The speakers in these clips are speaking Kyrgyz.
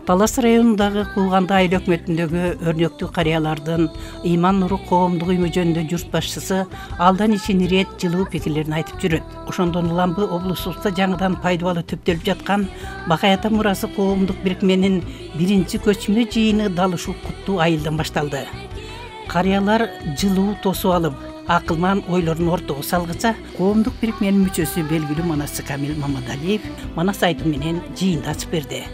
Талас районундагы Куулганда айыл өкмөтүндөгү өрнөктүү карыялардын ыйман нуру коомдук уюму жөнүндө журт башчысы алдан ичин ирет жылуу пикирлерин айтып жүрөт. Ошондон улам облусубузда жаңыдан пайдалуу төптөлүп жаткан Бакай ата мурасы коомдук бирикменин биринчи көчмө жыйыны дал ушул куттуу айылдан башталды. Карыялар жылуу тосуп алып, акылман ойлорун ортого салгыча, коомдук бирикменин мүчөсү белгилүү манасчы Камил Мамадалиев манас айтуу менен жыйынды ачып берди.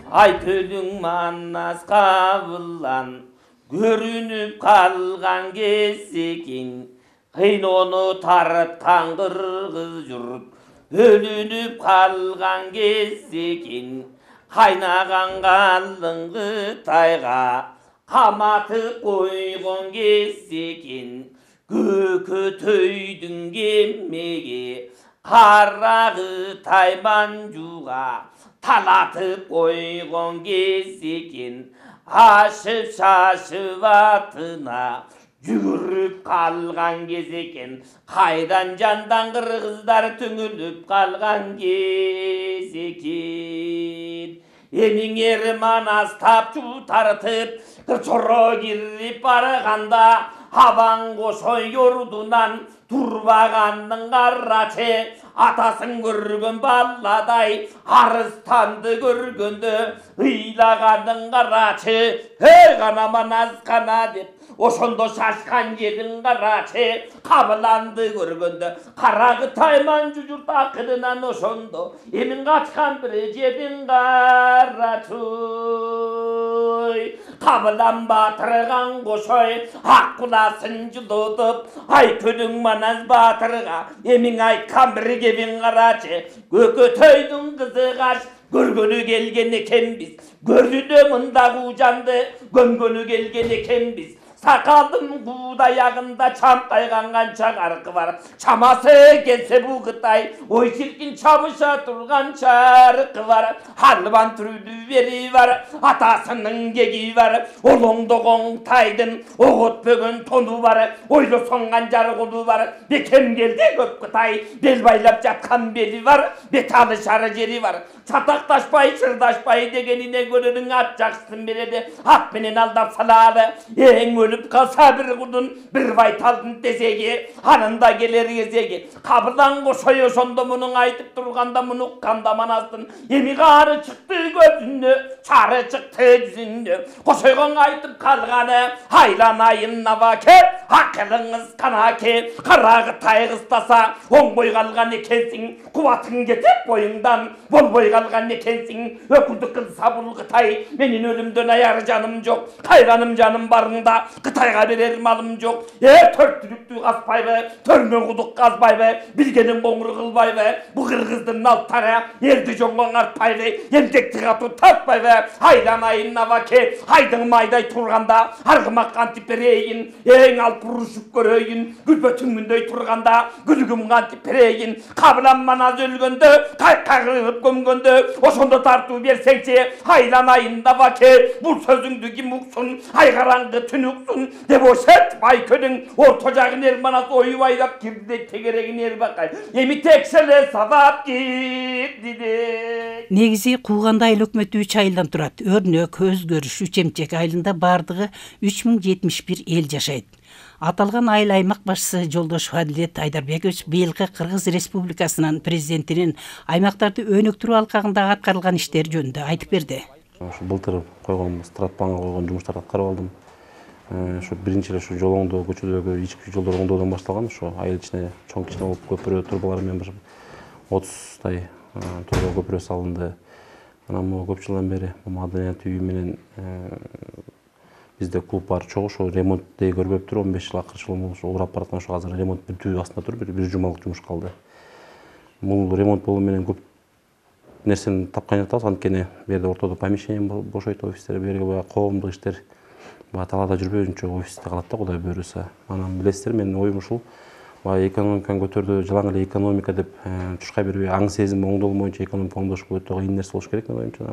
Айтылың манас кабылан көрүнүп калган кезекин, кыйнону тараткан кыргыз журт бөлүнүп калган кезекин, кайнаган калың Кытайга каматып койгон кезекин, көкөтөйдүн кемеге кара Кытай манжуга талатып койгон кезекин, ашып шашып атына жүгүрүп калган кезекин, кайдан жандан кыргыздар түңүлүп калган кезекин. Эмиңер манас тапчу тартып чоро кирип барганда, абаң кошой ордунан турбагандын карачы, атасын көргөн баладай арыстанды көргөндө ыйлагандын карачы, гана манас гана деп ошондо шашкан жерин карачы, кабыланды көргөндө кара Кытай манжу журт акырынан ошондо эмин качкан бир жерин карачы. Кабылан батырган кошой ак куласын жылытып, Айкөлүң манас батырга эмиң айткан бир кебин карачы, көкөтөйдүн кызы каш көргөнү келген экенбиз, көзүнө мындагы жанды көмгөнү келген экенбиз. Сакалдын куудаягында чамкайган канча каркы бар, чамасы келсе бул Кытай ой чиркин чабыша турган чаркы бар. Албан түрүлүү бери бар, атасынын кеги бар, олоңдогон Кытайдын оготпөгөн тону бар, ойлосоң канжар колу бар. Бекем келди көп Кытай, бел байлап жаткан бели бар, бет алышар жери бар. Чатакташпай, чырдашпай дегенине көрөрүң ат жакшысын береди, ат менен алдап салалы. Эң өлүп калса бир кудун, бир байталдын тезеги, анында келер кезеги. Кабылан кошой ошондо мунуң айтып турганда, муну укканда манастын эми кары чыкты көзүнө, чары чыкты жүзүнө. Кошойгон айтып калганы, айланайын набаке, акылыңыз канаке, кара Кытай кыстаса оңбой калган экенсиң, кубатың кетип боюңдан болбой калган экенсиң. Өкүлдүк кылса бул Кытай, менин өлүмдөн аяр жаным жок, кайраным жаным барында Кытайга берер малым жок. Төрт түлүктү казбайбы, төрмө кудук казбайбы, билгенин коңур кылбайбы, бу кыргыздын алттары элди жоңго артпайбы, эмгекти катуу тартпайбы. Айланайын набаке, айдың майдай турганда аргымак кантип берейин, эң алып урушуп көрөйүн, күлбөтүңмүндөй турганда күлүгүм кантип берейин. Кабылан манас өлгөндө, кайкагып көмгөндө ошондо тартуу берсеңчи, айланайын набаке, бул сөзүңдү ким уксун, ай караңгы түнүксүн деп ошет. Айкөлүң орто жагын эр манас оюп айлап кирди, тегерегин эр Бакай эми текшеле сабап кирди. Негизи Куулганда айыл өкмөтү 3 айылдан турат. Өрнөк, Өзгөрүш, Үчемчек айылында бардыгы 3071 эл жашайт. Аталган айыл аймак башчысы Жолдошов Адилет Айдарбекович быйылкы Кыргыз Республикасынын президентинин аймактарды өнүктүрүү алкагында аткарылган иштер жөнүндө айтып берди. Былтыр койгон стратпланга койгон жумуштарды аткарып алдым. Ошо биринчи эле ушу жолоңдоо, көчөлөргө ички жолдор оңдоодон башталган. Ошо айыл ичине чоң кичине болуп көпүрө турбалар менен 30тай турба көпүрө салынды. Анан могу көп жылдан бери маданият үйү менен бизде клуб бар чогуу, ошо ремонтты көрбөп туруп 15 жыл акырчы болуп урап бараткан. Ошо азыр ремонт бүтүү астында туруп, бир жумалык жумуш калды. Бул ремонт болуу менен көп нерсени тапкан жатабыз. Анткени бу жерде ортодо помещение бошойт, офистер, бу жерге коомдук иштер талаада жүрбөй өзүнчө офисте калат да, Кудай буйруса. Анан билесиздер, менин оюм ушул. Экономиканы көтөрдү, жалаң эле экономика деп чуркай бербей, аң сезим оңдолмойчу экономика оңдош өтө кыйын нерсе болуш керек менин оюмча.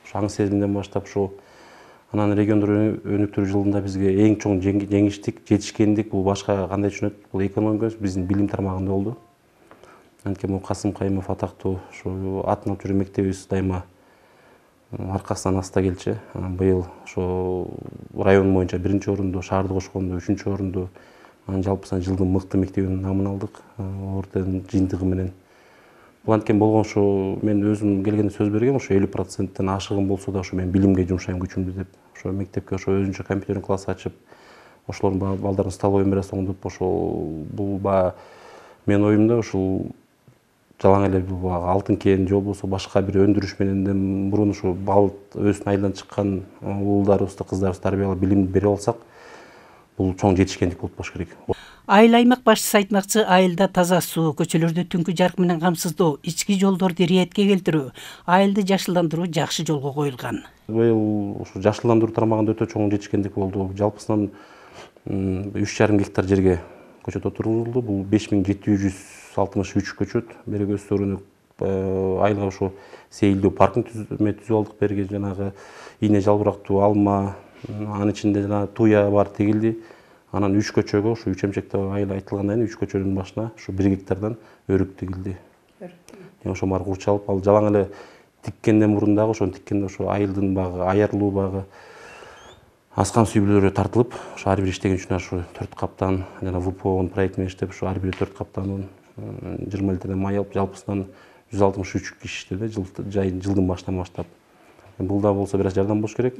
Ошо аң сезимден баштап ушу анан региондор өнүктүрүү жылында бизге эң чоң жеңиштик, жетишкендик бул башка кандай түшүнөт? Бул экономика биздин билим тармагында болду. Анткени Касым Кайымов атактуу ушу атын алып жүргөн мектебибиз дайыма аркасынан аста келчү. Быйыл ошо район боюнча 1-орунду, шаарды кошкондо 3-орунду, жалпысынан жылдын мыкты мектебинин намын алдык орден жыйынтыгы менен. Бул анткен болгон ушу мен өзүм келгенде сөз бергем, ошо 50%тен ашыгым болсо да ошо мен билимге жумшайм күчүмдү деп. Ошо мектепке ошо өзүнчө компьютерный класс ачып, ошолордун балдарын столовой бересиң оңдоп, ошол бул мен оюмда ушул жалаң эле бул алтын кен же болбосо башка бир өндүрүш менен мурун ушу бал өзүнүн айылдан чыккан уулдарыбызды, кыздарыбызды тарбиялап билим бере алсак, бул чоң жетишкендик болуп болуш керек. Айыл аймак башчысы айтмакчы, айылда таза суу, көчөлөрдү түнкү жарык менен камсыздоо, ички жолдорду иретке келтирүү, айылды жашылдандыруу жакшы жолго коюлган. Быйыл ушу жашылдандыруу тармагында өтө чоң жетишкендик болду. Жалпысынан 3,5 гектар жерге көчөт отурулду. Бул 5763 көчөт. Береги өстөрүнү айылга ушу сейилдүү паркын түзүп алдык. Береги жанагы ийне жалбырактуу алма, анын ичинде жана туя бар тегилди. Анан 3 көчөгө ушу 3 эмчекте айыл айтылгандан кийин 3 көчөнүн башына ушу 1 гектардан өрүк тигилди. Ошо баары курчалып, ал жалаң эле тиккенден мурун дагы ошону тиккенде ошо айылдын багы, аярлуу багы, аскан сүйбөлөрү тартылып, ошо ар бир иштеген үчүн ошо 4 каптан жана ВПОнун проекти менен иштеп, ошо ар бири 4 каптанын 20 литрден май алып, жалпысынан 163 киши иштеди жылдын башынан баштап. Бул да болсо бир аз жардам болуш керек.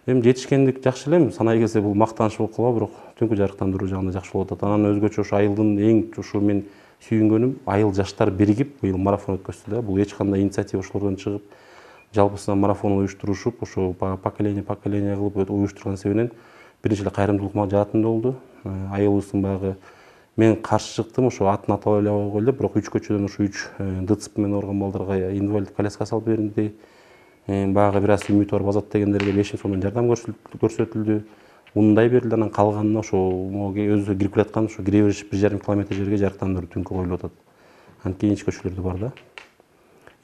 Эми жетишкендик жакшы эле, санай келсе бул мактаныч болуп калбайбы, бирок түнкү жарыктандыруу жагында жакшы болуп атат. Анан өзгөчө ошо айылдын эң ушу мен сүйүнгөнүм, айыл жаштар биригип быйыл марафон өткөздү да. Бул эч кандай инициатива ошолордон чыгып, жалпысынан марафон уюштурушуп, ошо поколение кылып уюштурган себебинен биринчи эле кайрымдуулук жаатында болду. Айылыбыздын багы мен каршы чыктым, ошо атын атап эле койгойлу деп, бирок 3 көчөдөн ошо 3 ДЦП менен ооруган балдарга инвалид коляска салып берилди. Багы бир аз үмүтү бар базат дегендерге 5 сомдон жардам көрсөтүлдү. Ундай берилди, анан калганына ошо өзү кирип келаткан ошо кире бериш 1,5 километр жерге жарыктандыруу түнкү коюлуп атат. Анан кийинчи көчөлөрдө бар да.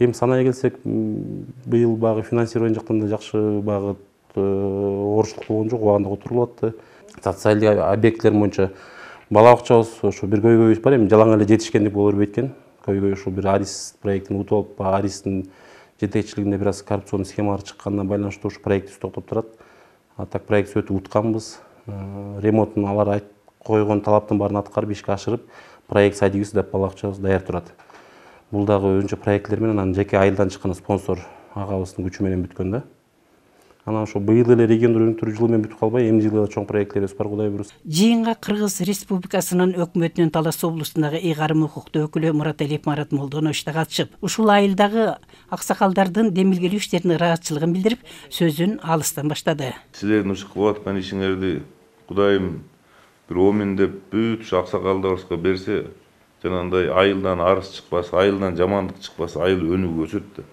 Эми санай келсек, быйыл багы финансирование жактан да жакшы багы оорчулук болгон жок, убагында отурулуп атты. Социалдык объекттер боюнча бала бакчабыз ошо бир көйгөйүбүз бар, эми жалаң эле жетишкендик боло бербейт экен. Көйгөй ошо бир Арис проектин утуп алып, Аристин жетекчилигинде бир аз коррупционный схемалар чыкканына байланыштуу ушу проектибиз токтоп турат. А так проект өтүп утканбыз. Ремонтун алар койгон талаптын баарын аткарып, ишке ашырып, проект садигибиз деп бала бакчабыз даяр турат. Бул дагы өзүнчө проекттер менен анан жеке айылдан чыккан спонсор агабыздын күчү менен бүткөн да. Анан ошо быйыл эле региондор өнүктүрүү жылы менен бүтүп калбай, эмне жылы чоң проектлерибиз бар, Кудай буйруса. Жыйынга Кыргыз Республикасынын өкмөтүнүн Талас облусундагы ыйгарым укуктуу өкүлү Мураталиев Марат Молдонович да катышып, ушул айылдагы аксакалдардын демилгелүү иштерине ыраазычылыгын билдирип, сөзүн алыстан баштады. Силердин ушу кылып аткан ишиңерди Кудайым бир оомин деп бүт ушу аксакалдарыбызга берсе, жанагындай айылдан арыз чыкпас, айылдан жамандык чыкпас, айыл өнүгүп өсөт да.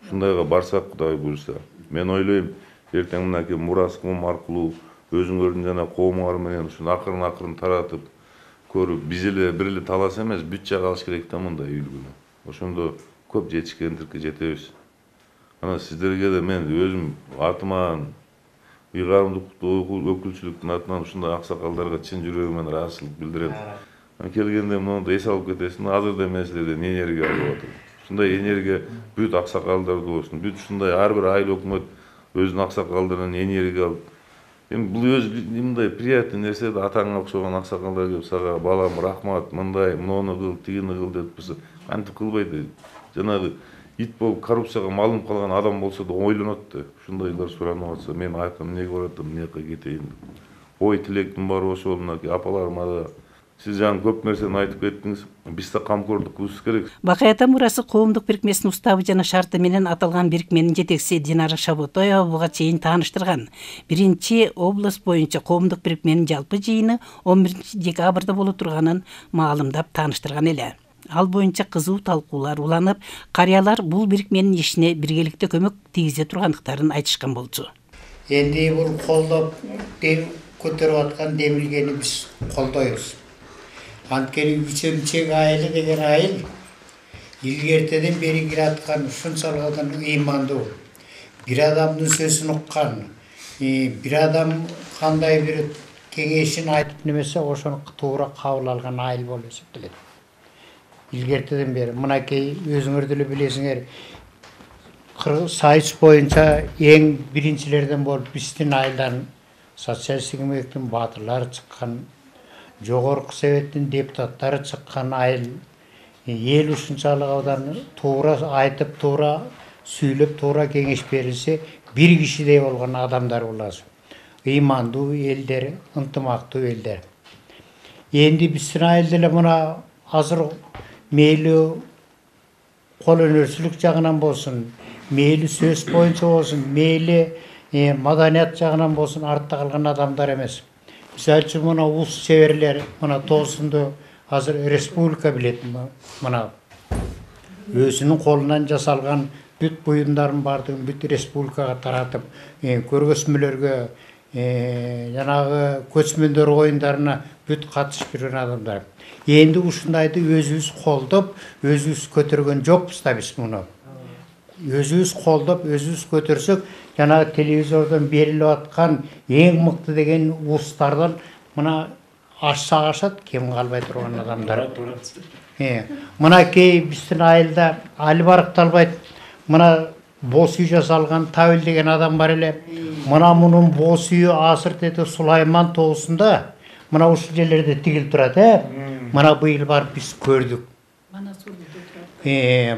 Ушундайга барсак, Кудай буйруса, мен ойлойм, эртең мынакей мурас коом аркылуу өзүңөрдүн жана коомуңар менен ушуну акырын таратып көрүп, биз эле бир эле Талас эмес, бүт жак алыш керек да мындай үлгүнү. Ошондо көп жетишкендикке жетебиз. Анан сиздерге да мен өзүм атыман ыйгарымдуулуктуу өкүлчүлүктүн атынан ушундай аксакалдарга чын жүрөгүмөн ыраазычылык билдирем. Келгенде мону эс алып кетесиң, азырда мен силерден энергия алып атам. Ушундай энергия бүт аксакалдарда болсун, бүт ушундай ар бир айыл өкмөт өзүнүн аксакалдарынан энергия алып. Эми бул өзү мындай приятный нерсе да, атаңа окшогон аксакалдар келип сага балам рахмат, мындай, муну кыл, тигини кыл деп турса, кантип кылбайт. Жанагы ит болуп коррупцияга малынып калган адам болсо да ойлонот да. Ушундайлар суранып атса, мен айтам, эмнеге баратам, эмнеге кетейин деп. Ой тилектин баары ошол мынакей апаларыма да. Сиз жаңы көп нерсени айтып кеттиңиз. Биз да камкорлук кылышыбыз керек. Бакай ата мурасы коомдук бирикмесинин уставы жана шарты менен аталган бирикменин жетекчиси Динара Шаботоева буга чейин тааныштырган. Биринчи область боюнча коомдук бирикменин жалпы жыйыны 11 декабрда боло турганын маалымдап тааныштырган эле. Ал боюнча кызуу талкуулар уланып, карыялар бул бирикменин ишине биргеликте көмөк тийгизе тургандыктарын айтышкан болчу. Энди бул колдоп көтөрүп аткан демилгени биз колдойбуз. Анткени Үчемчек айылы деген айыл илгертеден бери кираткан ушунчалык ыймандуу. Бир адамдын сөзүн уккан, бир адам кандай бир кеңешин айтып немесе ошону туура кабыл алган айыл болуп эсептелет. Илгертеден бери мынакей өзүңөр деле билесиңер, Сайыс боюнча эң биринчилерден болуп биздин айылдан социалисттик эмгектин баатырлары чыккан, жогорку советтин депутаттары чыккан айыл. Эл ушунчалык абдан туура айтып, туура сүйлөп, туура кеңеш берилсе, бир кишидей болгон адамдар буласыз. Ыймандуу элдер, ынтымактуу элдер. Энди биздин айыл деле мына азыр мейли кол өнөрчүлүк жагынан болсун, мейли сөз боюнча болсун, мейли маданият жагынан болсун артта калган адамдар эмес. Мисалы үчүн мына улус чеберлер мына Тоосунду азыр республика билет. Мына өзүнүн колунан жасалган бүт буюмдардын баардыгын бүт республикага таратып, көргөзмөлөргө, жанагы көчмөндөр оюндарына бүт катышып жүргөн адамдар. Энди ушундайды өзүбүз колдоп, өзүбүз көтөргөн жокпуз да биз муну. Өзүбүз колдоп, өзүбүз көтөрсөк, жанагы телевизордон берилип аткан эң мыкты деген улустардан мына ашса ашат, кем калбай турган адамдар. Мына кей биздин айылда али баркталбайт. Мына боз үй жасалган Табил деген адам бар эле. Мына мунун боз үйү азыр деди Сулайман тоосунда. Мына ушул жерлерде тигилип турат, Мына быйыл барып биз көрдүк.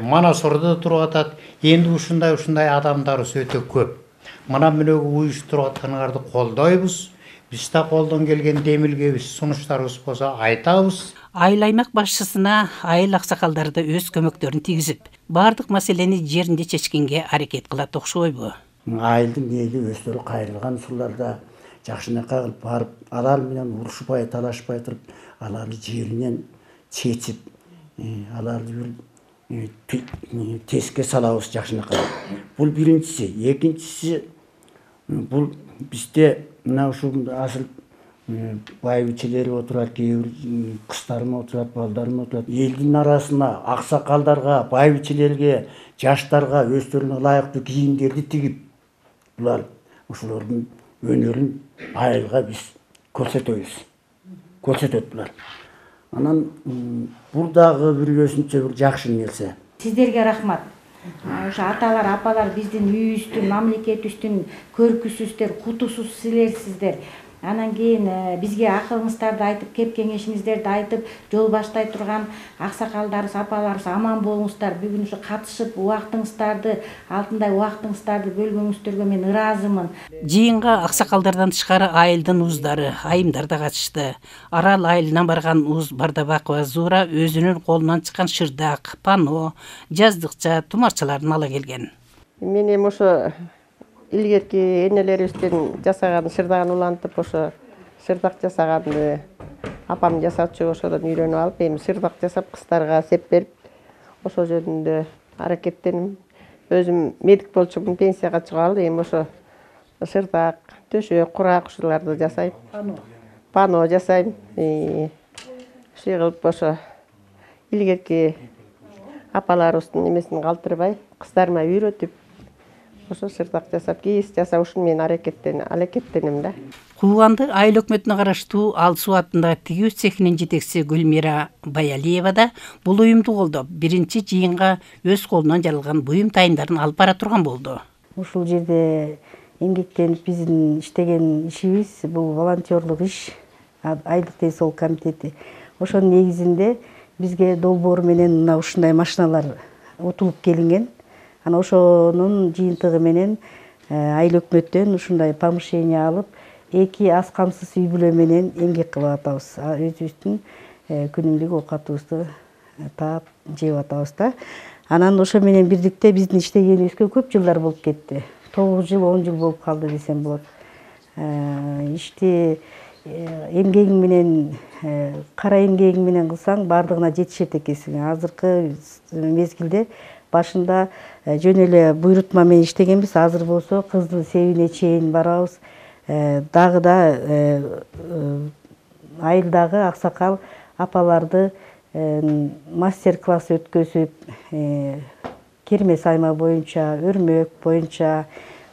Манасордо туруп атат. Энди ушундай адамдарыбыз өтө көп. Мына мынөгү уюштуруп атканыңарды колдойбуз. Биз да колдон келген демилгебиз, сунуштарыбыз болсо айтабыз. Айыл аймак башчысына айыл аксакалдары өз көмөктөрүн тийгизип, бардык маселени жеринде чечкенге аракет кылат окшойбу? Айылдын мээли өздөрү кайрылган учурларда жакшынакай кылып барып, алар менен урушпай, талашпай туруп, аларды жеринен чечип, аларды бир теске салабыз жакшынакай. Бул биринчиси. Экинчиси, бул бизде мына ушул азыр байбичелери отурат, кээ бир кыздарым отурат, балдарым отурат. Элдин арасына аксакалдарга, байбичелерге, жаштарга өздөрүнө ылайыктуу кийимдерди тигип, булар ошолордун өнөрүн айылга биз көрсөтөбүз. Көрсөтөт булар. Анан бул дагы бир өзүнчө бир жакшы нерсе. Сиздерге рахмат. Ошо аталар, апалар биздин үйүбүздүн, мамлекетибиздин көркүсүздөр, кутусуз силерсиздер. Анан кийин бизге акылыңыздарды айтып, кеп кеңешиңиздерди айтып, жол баштай турган аксакалдарыбыз, апаларыбыз аман болуңуздар. Бүгүн ушу катышып, убактыңыздарды, алтындай убактыңыздарды бөлгөнүңүздөргө мен ыраазымын. Жыйынга аксакалдардан тышкары айылдын уздары, айымдар да катышты. Арал айылынан барган уз Бардабакова Зура өзүнүн колунан чыккан шырдак, пано, жаздыкча, тумарчаларын ала келген. Мен эми ошо илгерки энелерибиздин жасаган шырдагын улантып, ошо шырдак жасаганды апам жасаучу, ошодон үйрөнүп алып, эми шырдак жасап кыздарга сеп берип, ошол жөнүндө аракеттеним. Өзүм медик болчумун, пенсияга чыгып алып, эми ошо шырдак, төшөк, курак ушуларды жасайм. Пано жасайм. Ушуй кылып ошо илгерки апаларыбыздын эмесин калтырбай, кыздарыма үйрөтүп, ошо шырдак жасап, кийиз жасап, ушуну мен аракеттенем да. Кууганды айыл өкмөтүнө караштуу Ал Суу аттындагы тигүү цехинин жетекчиси Гүлмира Баялиева да бул уюмду колдоп, биринчи жыйынга өз колунан жаралган буюм тайымдарын алып бара турган болду. Ушул жерде эмгектенип биздин иштеген ишибиз бул волонтерлук иш, айылдык ден соолук комитети. Ошонун негизинде бизге долбоор менен мына ушундай машиналар утулуп келинген. Ана ошонун жыйынтыгы менен айыл өкмөттөн ушундай помещение алып, 2 аз камсыз үй бүлө менен эмгек кылып атабыз. Өзүбүздүн күнүмдүк оокатыбызды таап жеп атабыз да. Анан ошо менен бирдикте биздин иштегенибизге көп жылдар болуп кетти. 9 жыл, 10 жыл болуп калды десем болот. Ишти эмгегиң менен, кара эмгегиң менен кылсаң, бардыгына жетишет экенсиң. Азыркы мезгилде башында жөн эле буйрутма менен иштегенбиз, азыр болсо кыздын себине чейин барабыз. Дагы да айылдагы аксакал апаларды мастер-класс өткөзүп, керме сайма боюнча, өрмөк боюнча,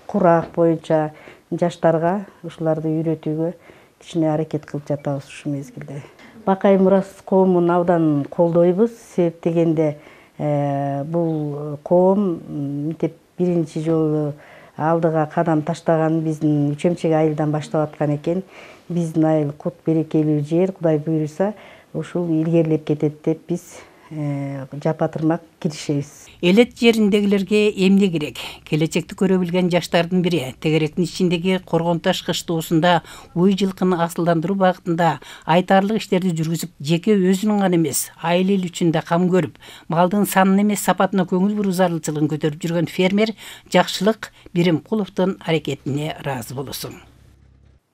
курак боюнча жаштарга ушуларды үйрөтүүгө кичине аракет кылып жатабыз ушул мезгилде. Бакай Мурас коомун абдан колдойбуз, себеп дегенде бул коом мынтип биринчи жолу алдыга кадам таштаган биздин Үчөмчек айылдан баштап аткан экен. Биздин айыл кут берекелүү жер, Кудай буйруса ушул илгерилеп кетет деп биз жапатырмак киришебиз. Элет жериндегилерге эмне керек? Келечекти көрө билген жаштардын бири тегеректин ичиндеги Коргонташ кыштоосунда уй жылкыны асылдандыруу багытында айтарлык иштерди жүргүзүп, жеке өзүнүн гана эмес, айыл эл үчүн да кам көрүп, малдын санын эмес сапатына көңүл буруу зарылчылыгын көтөрүп жүргөн фермер Жакшылык Биримкуловдун аракетине ыраазы болосуң.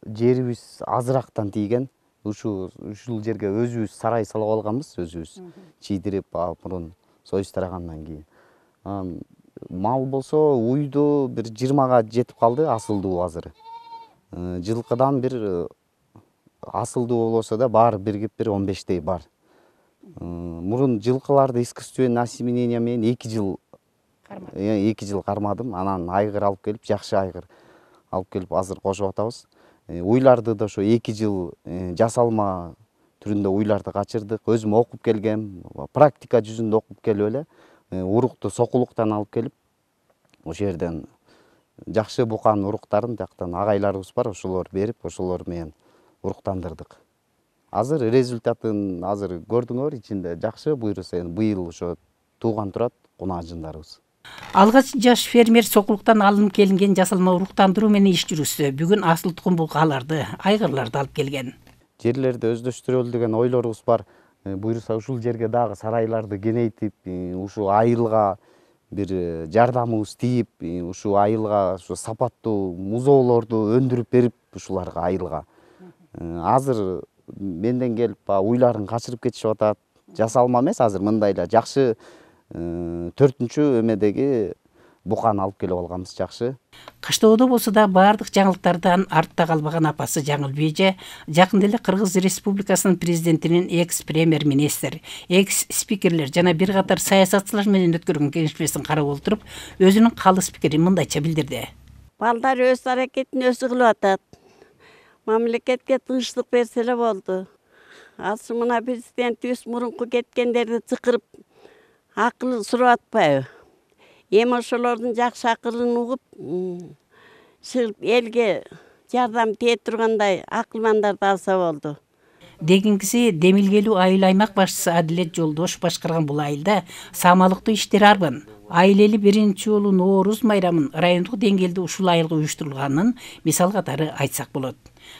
Жерибиз азырактан тийген. Ушул жерге өзүбүз сарай салып алганбыз, өзүбүз чийдирип мурун союз тарагандан кийин. Мал болсо уйду бир 20га жетип калды, асылдуу азыр. Жылкыдан бир асылдуу болбосо да бар биргип бир 15тей бар. Мурун жылкыларды искусственный осеменение менен 2 жыл кармадым. Анан айгыр алып келип, жакшы айгыр алып келип азыр кошуп атабыз. Уйларды да ошо 2 жыл жасалма түрүндө уйларды качырдык. Өзүм окуп келгем, практика жүзүндө окуп келип эле урукту сокулуктан алып келип, ошол жерден жакшы букан уруктарын жактан агайларыбыз бар, ошолор берип, ошолор менен уруктандырдык. Азыр результатын азыр көрдүңөр, ичинде жакшы буйруса эми быйыл ошо тууган турат кунаажындарыбыз. Алгач жаш фермер сокулуктан алынып келинген жасалма уруктандыруу менен иш жүрүздү. Бүгүн асыл тукум булкаларды, айгырларды алып келген. Жерлерди өздөштүрөлү деген ойлорубуз бар. Буйруса ушул жерге дагы сарайларды кеңейтип, ушу айылга бир жардамыбыз тийип, ушу айылга ушу сапаттуу музоолорду өндүрүп берип ушуларга айылга. Азыр менден келип уйларын качырып кетишип атат. Жасалма эмес, азыр мындайла жакшы 4-чү эмедеги буканы алып келип алганбыз, жакшы. Кыштоодо болсо да баардык жаңылыктардан артта калбаган апасы Жаңыл Бейже жакында эле Кыргыз Республикасынын президентинин экс-премьер-министр, экс-спикерлер жана бир катар саясатчылар менен өткөргөн кеңешмесин карап отуруп, өзүнүн калыс пикирин мындайча билдирди. Балдар өз аракетин өзү кылып атат. Мамлекетке тынчтык берсе эле болду. Азыр мына президентибиз мурунку кеткендерди чакырып акыл сурап атпайбы? Эми ошолордун жакшы акылын угуп, элге жардам тие тургандай акылмандарды алса болду. Дегингиси Демилгелүү айыл аймак башчысы Адилет Жолдош башкарган бул айылда самалыктуу иштер арбын. Айыл эли биринчи жолу Нооруз майрамын райондук деңгээлде ушул айылга уюштурулганын мисал катары айтсак болот.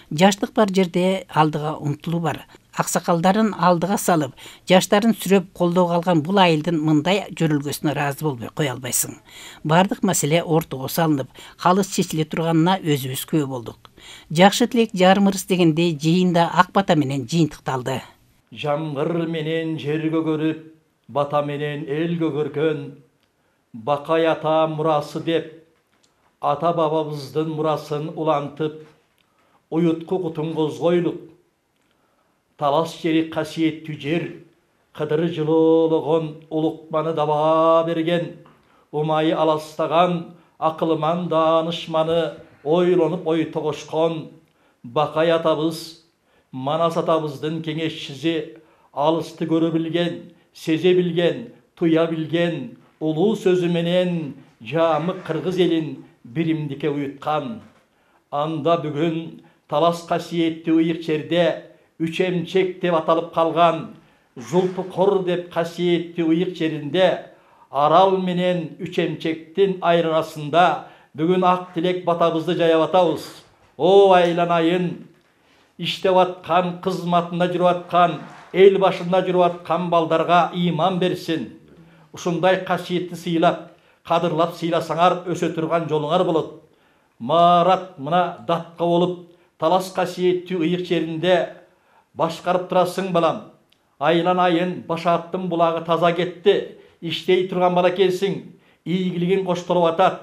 Жаштык бар жерде алдыга умтулуу бар. Аксакалдарын алдыга салып, жаштарын сүрөп колдоого алган бул айылдын мындай жөрөлгөсүнө ыраазы болбой кое албайсың. Бардык маселе ортого салынып, калыс чечиле турганына өзүбүз күбө болдук. Жакшы тилек жарымырыс дегендей жыйында ак бата менен жыйынтыкталды. Жамгыр менен жер көгөрүп, бата менен эл көгөргөн, Бакай ата мурасы деп, ата бабабыздын мурасын улантып, уютку кутун козгойлук. Талас жери касиеттүү жер, кыдыры жылоологон улукманы даба берген, умайы аластаган, акылман даанышманы ойлонуп ой тогошкон. Бакай атабыз, Манас атабыздын кеңешчиси, алысты көрө билген, сезе билген, туя билген, улуу сөзү менен жамык кыргыз элин биримдикке уюткан. Анда бүгүн талас касиеттүү ыйык жерде Үчөмчек деп аталып калган, Жулпукор деп касиеттүү ыйык жеринде Арал менен Үчөмчектин айырасында бүгүн ак тилек батабызды жаяп атабыз. О айланайын, иштеп аткан, кызматында жүрүп аткан, эл башында жүрүп аткан балдарга ыйман берсин. Ушундай касиетти сыйлап, кадырлап сыйласаңар өсө турган жолуңар болот. Марат мына датка болуп, талас касиеттүү ыйык жеринде башкарып турасың балам. Айланайын, Башааттын булагы таза кетти, иштей турган бала экенсиң, ийгилигин коштолуп атат.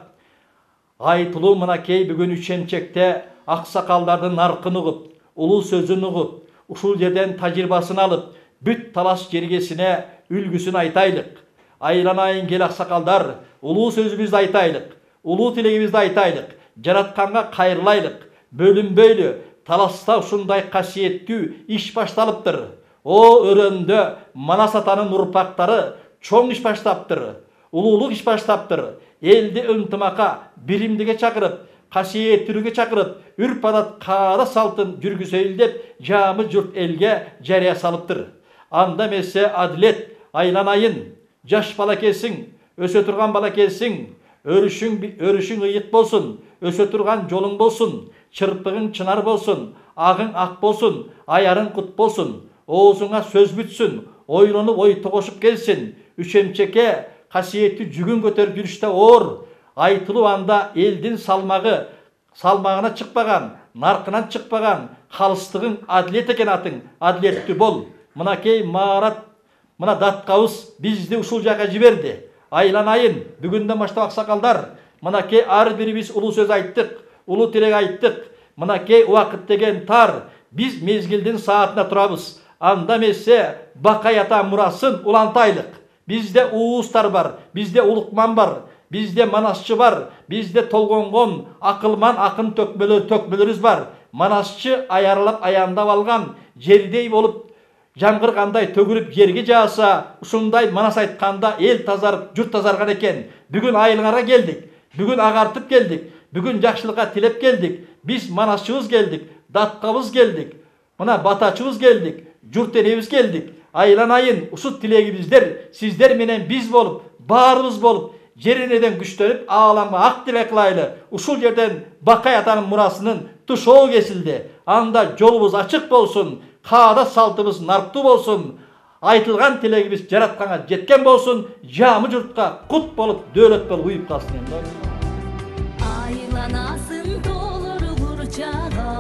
Айтылуу мынакей бүгүн Үчөмчекте аксакалдардын наркын угуп, улуу сөзүн угуп, ушул жерден тажрыйбасын алып, бүт талас жергесине үлгүсүн айтайлык. Айланайын кел аксакалдар, улуу сөзүбүздү айтайлык, улуу тилегибизди айтайлык, жаратканга кайрылайлык, бөлүнбөйлү, таласта ушундай касиеттүү иш башталыптыр. О өрөндө Манас атанын урпактары чоң иш баштаптыр. улуулук иш баштаптыр. Элди ынтымакка, биримдикке чакырып, касиеттүүлүккө чакырып, үрп адат, каада салтын жүргүзөйүл деп жаамы журт элге жарыя салыптыр. Анда эмесе адилет айланайын, жаш балакесиң, өсө турган балакесиң, өрүшүң ыйык болсун, өсө турган жолуң болсун, чырпыгың чынар болсун, агың ак болсун, аярың кут болсун, оозуңа сөз бүтсүн, ойлонуп ой тогошуп келсин, үчемчекке касиеттүү жүгүн көтөрүп жүрүштө оор, айтылуу анда элдин салмагына чыкпаган, наркынан чыкпаган, калыстыгың адилет экен атың, адилеттүү бол. Мынакей Марат, мына датқабыз бизди ушул жака жиберди. Айланайын, бүгүндөн баштап аксакалдар, мынакей ар бирибиз улуу сөз айттык, улуу тилек айттык. Мынакей убакыт деген тар, биз мезгилдин саатына турабыз. Анда эмесе Бакай ата мурасын улантайлык. Бизде уустар бар, бизде улукман бар, бизде манасчы бар, бизде толгонгон акылман акын төкмөлөрүбүз бар. Манасчы аярылап аяндап алган, жердей болуп жамгыргандай төгүлүп жерге жааса, ушундай манас айтканда эл тазарып, журт тазарган экен. Бүгүн айылыңарга келдик, бүгүн агартып келдик, бүгүн жакшылыкка тилеп келдик. Биз манасчыбыз келдик, датқабыз келдик, мына батачыбыз келдик, журт элебиз келдик. Айланайын, ушул тилегибиздер сиздер менен биз болуп, баарыбыз болуп, жеринеден күчтөнүп, ааламга ак тилек кылайлы. Ушул жерден Бакай атанын мурасынын тушоо кесилди. Анда жолубуз ачык болсун, каада салтыбыз нарктуу болсун, айтылган тилегибиз жаратканга жеткен болсун, жаамы журтка кут болуп, дөөлөт болуп уюп калсын. Айланасын толор бурчага